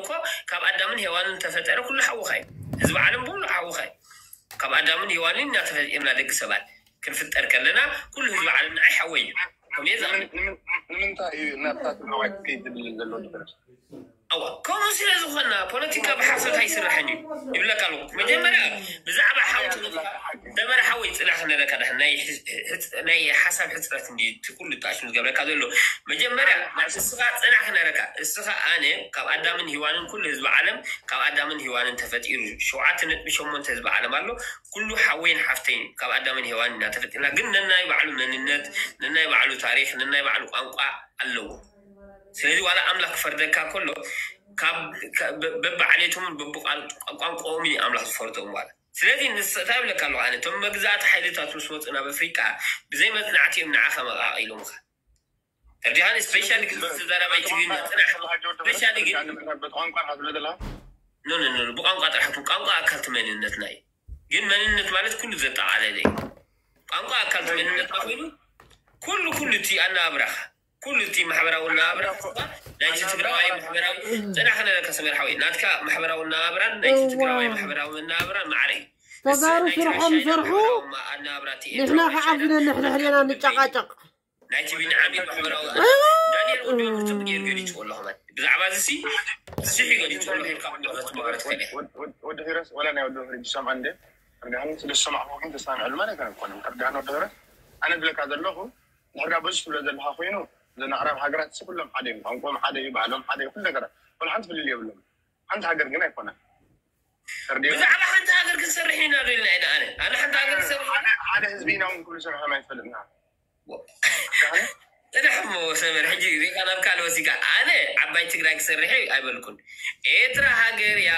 እኮ ካብ ኣዳምን ሄዋንን ተፈጠረ ኩሉ ሓውኻ እዩ። ህዝቢ ዓለም ብሙሉ ሓውኻ እዩ። ካብ ኣዳምን ሄዋንን ኢና ተፈጢርና ደቂ ሰባት። ክንፍጠር ከለና ኩሉ ህዝቢ ዓለም ንዓይ ሓወይ እዩ። ከምየ ዝኣምን። ንምንታይ እዩ ናብታ ትግራዋይ ክከይድ ዝብል ዘሎ ድረስ? እዋ ከምኡ ስለ ዝኾና ፖለቲካ ብሓሶት ኣይስራሕን እዩ ይብለካ ኣለኩ። መጀመርያ ብዛዕባ ሓውቲ ሰመረ ሓወይ ጽናሕ ክነረካ ዳ ናይ ሓሳብ ሕፅረት እንዲ እቲ ኩሉ ጣሽሙ ዝገብረካ ዘሎ። መጀመርያ እስኻ ጽናሕ ክነረካ እስኻ ኣነ ካብ ኣዳምን ሂዋንን ኩሉ ህዝቢ ዓለም ካብ ኣዳምን ሂዋንን ተፈጢሩ። ሸውዓተ ነጥቢ ሸሞንተ ህዝቢ ዓለም ኣሎ። ኩሉ ሓወይን ሓፍተይን ካብ ኣዳምን ሄዋን ኢና ተፈጢርና። ግን ነናይ ባዕሉ መንነት፣ ነናይ ባዕሉ ታሪኽ፣ ነናይ ባዕሉ ቋንቋ ኣለዎ። ስለዚ ዋላ ኣምላኽ ክፈርደካ ከሎ በብዓሌቶምን በብቋንቋኦምን ኣምላኽ ዝፈርዶም። ዋላ ስለዚ ንስታ ይብለካ ኣለኹ ኣነ እቶም መግዛእቲ ሓይልታት ምስ መፁ ናብ ኣፍሪቃ ብዘይ መፅናዕቲ እዮም ንዓኻ መቃቂሎምካ። ተርዲኻን ስፔሻሊ ግን ተዛራባይ ትግርኛ ፅናሕ ስፔሻሊ ግን ቋንቋ ዝብለ ዘለካ ኖ ኖ ኖ ብቋንቋ ጥራሕ ቋንቋ ኣካልቲ መንነትና እዩ። ግን መንነት ማለት ኩሉ ዘጠቃለለ እዩ። ቋንቋ ኣካልቲ መንነትና ኮይኑ ኩሉ ኩሉ እቲ ኣናብራኻ ኩሉ እቲ ማሕበራዊ ኣናብራ ናይቲ ትግራዋይ ማሕበራዊ ፅናሕ ክነለካ ሰመር ሓወይ ናትካ ማሕበራዊ ኣናብራን ናይቲ ትግራዋይ ማሕበራዊ ኣናብራን ማዕረ እዩ። ተጋሩ ስርሖም ይሰርሑ። ንሕና ከዓ ብነንሕድሕድና ንጨቃጨቅ። ናይቲ ቢንዓሚን ማሕበራዊ ዳንኤል ወዲ ክፅብ ገይሩ ገሊፅዎ ኣሎ። ከማን ብዛዕባ እዚ ሲ ስሒ ገሊፅዎ ኣሎ። ሄድካ ክትመሃረት ከደ ወዲ ሂረስ ወላ ናይ ወዲ ሂረስ ዝሰምዐ እንደ ርዳህን ስለ ዝሰማዕኩ ግን ተስማሚዐሉ ማለት ኣይኮነን። ርዳህን ወዲ ሂረስ ኣነ ዝብለካ ዘለኹ ንሕርጋ በዚ ትብሎ ዘለካ ኮይኑ ዘናዕራብ ሃገራት ሲ ኩሎም ሓደ እዮም። ቋንቋም ሓደ እዩ፣ ባህሎም ሓደ እዩ፣ ኩሉ ነገራት ወላ ሓንቲ ፍልል የብሎም። ሓንቲ ሃገር ግን ኣይኮነን። ብዛዕባ ሓንቲ ሃገር ክንሰርሕ ኢና ዶ ኢልና ኢና ኣነ ኣነ ሓንቲ ሃገር ክሰርሕ ሓደ ህዝቢ ኢና እውን ኩሉ ስርሖም ኣይትፈልጥና። ጥራሕ እሞ ሰመር ሕጂ ሪኢኻ ናብ ካልእ ወሲካ ኣነ ዓባይ ትግራይ ክሰርሕ እየ ኣይበልኩን። ኤርትራ ሃገር እያ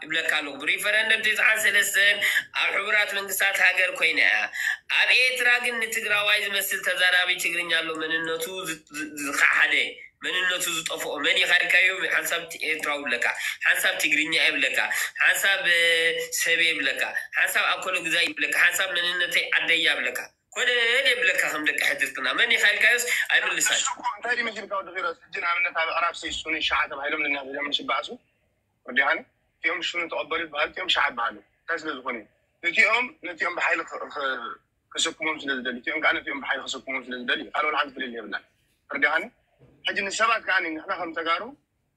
ይብለካ ኣለኹ። ብሪፈረንደም ተስዓን ሰለስተን ኣብ ሕቡራት መንግስታት ሃገር ኮይና እያ። ኣብ ኤርትራ ግን ንትግራዋይ ዝመስል ተዛራቢ ትግርኛ ኣሎ። መንነቱ ዝኸሓደ መንነቱ ዝጠፍኦ መን ኢኻ ኢልካዮ ሓንሳብ ኤርትራዊ ይብለካ፣ ሓንሳብ ትግርኛ ይብለካ፣ ሓንሳብ ሰቤ ይብለካ፣ ሓንሳብ ኣኮሎ ግዛይ ይብለካ፣ ሓንሳብ መንነተይ ዓደያ ይብለካ። ኮለል የብለካ ከም ደቂ ሕድርትና መን ኢኻ ኢልካዮስ ኣይምልሳን። እንታይ ድዩ መሲልካ ወዲ ኺሮስ? ሕጂ ንኣብነት ኣብ ኣዕራብ ሰይሱኒ ሸዓ ተባሂሎም ንናብዚኦም ሽባእሱ ወዲሃኒ እቲኦም ሽኑ ተቐበሉ ይበሃሉ እቲኦም ሸዓ ይበሃሉ። እንታይ ስለ ዝኾኑ እዩ? እቲኦም ነቲኦም ብሓይሊ ክስክሞም ስለ ዝደሊ እቲኦም ከዓ ነቲኦም ብሓይሊ ክስክሞም ስለ ዝደሊ እዩ። ካልእ ሓንቲ ፍልል የብላን። ወዲሃኒ ሕጂ ንሰባት ከዓ ንሕና ከም ተጋሩ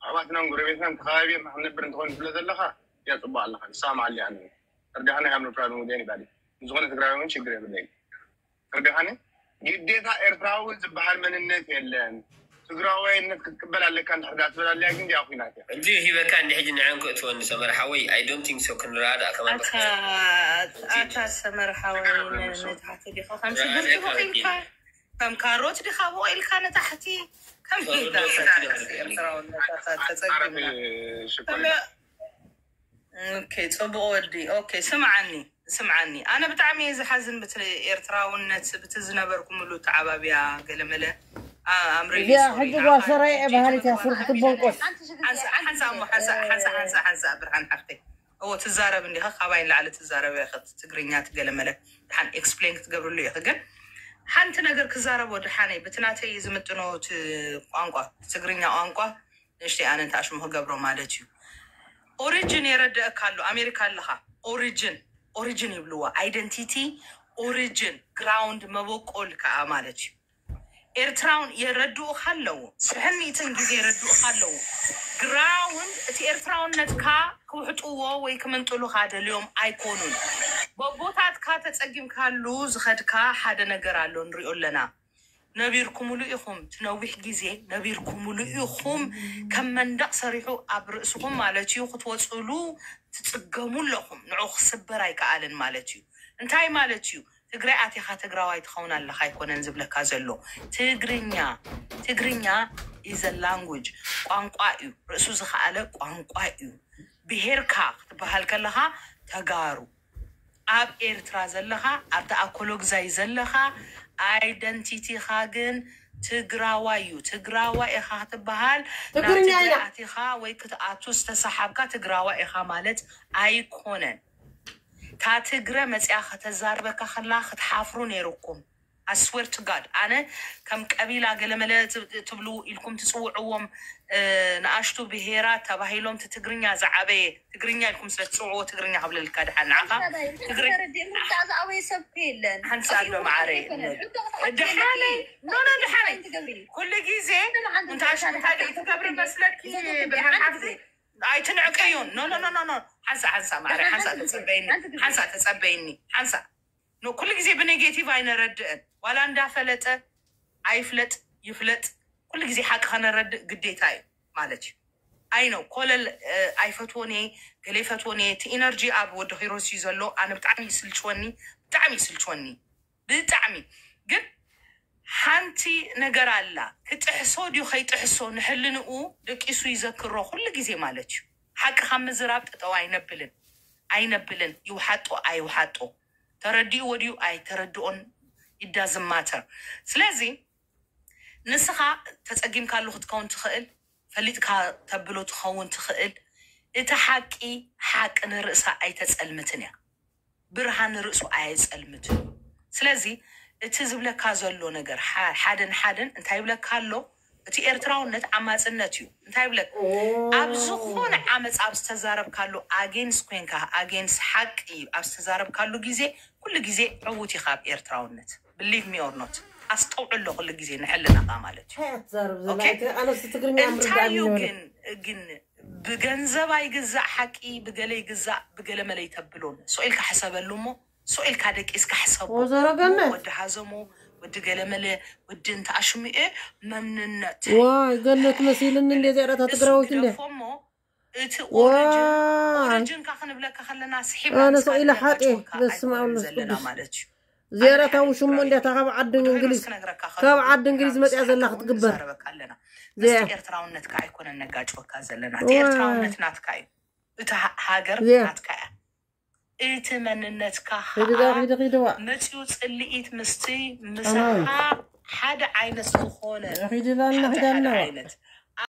ኣሕዋትናን ጎረቤትናን ተኸባቢርና ክንነብር እንተኾይኑ ስለ ዘለኻ እያ ፅቡቅ ኣለኻ ንስማማዓሉ እያ። ወዲሃኒ ሃምኖ ፕራብለም ወዲያኒ ባዲ ንዝኾነ ትግራዊ እውን ችግር የብለይ። ተረዲኻኒ? ግዴታ ኤርትራዊ ዝበሃል መንነት የለን። ትግራዋይነት ክትቅበል ኣለካ እንድሕር ዳ ትብል ኣለያ ግን ዲኣ ኩናት እያ። ሕጂ ሂበካ እንዲ ሕጂ ንዐን ክእትወኒ ሰመር ሓወይ I don't think so ክንረዳእ ከማን ኣታ ኣታ ሰመር ሓወይ ንታሕቲ ዲኻ ከም ሽጉርቲ ቦቂልካ ከም ካሮት ዲኻ ቦቂልካ ንታሕቲ ከመይ ኢልካ ኤርትራውነት ተጸጊምና ኦኬ፣ ጽቡቕ ወዲ። ኦኬ፣ ስምዓኒ ስምዓኒ፣ ኣነ ብጣዕሚ እየ ዝሓዝን ብቲ ኤርትራውነት ብቲ ዝነበርኩምሉ ተዓባብያ ገለመለ ኣምሪ እዚኣ ሕጂ ጓል ሰራየ እየ በሃሊት እያ ስርሑ ትቦንቆስ። ሓንሳ እሞ ሓንሳ ሓንሳ ሓንሳ ሓንሳ ብርሃን ሓፍተይ እዎ ትዛረብ እንዲኻ ካባይ ንላዕሊ ትዛረብ ኢኺ ትግርኛ ትገለመለ ድሓን ኤክስፕሌን ክትገብርሉ ኢኺ ግን ሓንቲ ነገር ክዛረቦ ድሓነይ ብቲ ናተይ ዝምጥኖ ቋንቋ ትግርኛ ቋንቋ ንእሽተይ ኣነ እንተ ኣሽሙ ክገብሮ ማለት እዩ። ኦሪጅን የረድአካ ኣሎ ኣሜሪካ ኣለኻ ኦሪጅን ኦሪጅን ይብልዎ ኣይደንቲቲ ኦሪጅን ግራውንድ መበቆል ከዓ ማለት እዩ። ኤርትራውን የረድኡኻ ኣለዉ ሽሕን ሚእትን ግዜ የረድኡኻ ኣለዉ። ግራውንድ እቲ ኤርትራውነትካ ክውሕጥዎ ወይ ክምንጥሉኻ ደልዮም ኣይኮኑን። በቦታትካ ተጸጊምካሉ ዝኸድካ ሓደ ነገር ኣሎ ንሪኦ ኣለና። ነቢርኩምሉ ኢኹም፣ እቲ ነዊሕ ግዜ ነቢርኩምሉ ኢኹም። ከም መንደቕ ሰሪሑ ኣብ ርእስኹም ማለት እዩ ክትወፅእሉ ትፅገሙ ኣለኹም። ንዑ ክስበር ኣይከኣልን ማለት እዩ። እንታይ ማለት እዩ? ትግራይ ኣቲኻ ትግራዋይ ትኸውን ኣለኻ ኣይኮነን ዝብለካ ዘሎ። ትግርኛ ትግርኛ is a language ቋንቋ እዩ። ርእሱ ዝኸኣለ ቋንቋ እዩ። ብሄርካ ክትበሃል ከለኻ ተጋሩ ኣብ ኤርትራ ዘለኻ ኣብቲ ኣኮሎግዛይ ዘለኻ ኣይደንቲቲኻ ግን ትግራዋይ እዩ። ትግራዋይ ኢኻ ክትበሃል ናብ ትግራይ ኣቲኻ ወይ ክትኣቱ ዝተሰሓብካ ትግራዋይ ኢኻ ማለት ኣይኮነን። እታ ትግረ መፅያ ከተዛርበካ ከላ ክትሓፍሩ ነይሩኩም። I swear to God ኣነ ከም ቀቢላ ገለመለ ትብሉ ኢልኩም ትፅውዕዎም ንኣሽቱ ብሄራት ተባሂሎም ትግርኛ ዝዓበየ ትግርኛ ኢልኩም ስለ ትፅውዕዎ ትግርኛ ክብለልካ ድሓን ንዓኻ ትግርኛ ዝኣበየ ሰብ የለን ሓንሳ ኣሎ ማዓረ ድሓነይ ኖኖ ድሓነይ ኩሉ ግዜ እንታይ ትገብሪ መስለኪ ብሓንቲ ኣይትንዕቀዩን ኖ ኖ ኖ ሓንሳ ሓንሳ ማዕረ ሓንሳ ተፀበይኒ ሓንሳ ተፀበይኒ ሓንሳ ኩሉ ግዜ ብኔጌቲቭ ኣይነረድእን ዋላ እንዳፈለጠ ኣይፍለጥ ይፍለጥ ኩሉ ግዜ ሓቂ ከነረድእ ግዴታ እዩ ማለት እዩ ኣይ ነው ኮለል ኣይፈትዎን እየ ገለ ይፈትዎን እየ እቲ ኢነርጂ ኣብ ወዲ ኪሮስ እዩ ዘሎ ኣነ ብጣዕሚ ይስልችወኒ ብጣዕሚ ይስልችወኒ ብጣዕሚ ግን ሓንቲ ነገር ኣላ ክጥሕሶ ድዩ ከይጥሕሶ ንሕልንኡ ደቂሱ ይዘክሮ ኩሉ ግዜ ማለት እዩ ሓቂ ካብ ምዝራብ ጠጠው ኣይነብልን ኣይነብልን ይውሓጦ ኣይውሓጦ ተረዲእዎ ድዩ ኣይተረድኦን it doesn't matter ስለዚ ንስኻ ተፀጊምካሉ ክትከውን ትኽእል ፈሊጥካ ተብሎ ትኸውን ትኽእል እቲ ሓቂ ሓቂ ንርእሳ ኣይተፀልምትን እያ ብርሃን ንርእሱ ኣየፀልምትን እዩ ስለዚ እቲ ዝብለካ ዘሎ ነገር ሓደን ሓደን እንታይ ይብለካ ኣሎ እቲ ኤርትራውነት ዓማፅነት እዩ እንታይ ይብለክ ኣብ ዝኾነ ዓመፅ ኣብ ዝተዛረብካሉ ኣጌንስ ኮንካ ኣጌንስ ሓቂ ኣብ ዝተዛረብካሉ ግዜ ኩሉ ግዜ ዕዉት ኢኻ ኣብ ኤርትራውነት believe me or not ኣስተውዕሎ ኩሉ ግዜ ንሕልናኻ ማለት እዩ እንታይ እዩ ግን ግን ብገንዘብ ኣይግዛእ ሓቂ ብገለ ይግዛእ ብገለ መለይ ተብሎን ስቕ ኢልካ ሕሰበሉ እሞ ስቕ ኢልካ ደቂስካ ሕሰቦ ወዲ ሃዘሞ ወዲ ገለመለ ወዲ እንተ ኣሽሚኤ መንነት ዋይ ገነት መሲልኒ እንደ ዚያዳታ ትግራዊት እንደ እሞ እቲ ኦሪጅንካ ክንብለካ ከለና ስሒብ ኣነ ስቕ ኢለ ሓጤ በስመ ኣብ መንፈስ ቅዱስ ዚያዳታ ውሽሞ እንዲያታ ካብ ዓዲ እንግሊዝ ካብ ዓዲ እንግሊዝ መፅያ ዘላ ክትግበር ኤርትራውነትካ ኣይኮነን ነጋጭወካ ዘለና ኤርትራውነት ናትካ እዩ እቲ ሃገር ናትካ እያ እቲ መንነትካ መፅኡ ፅልኢት ምስቲ ምሳኻ ሓደ ዓይነት ዝኾነ ዓይነት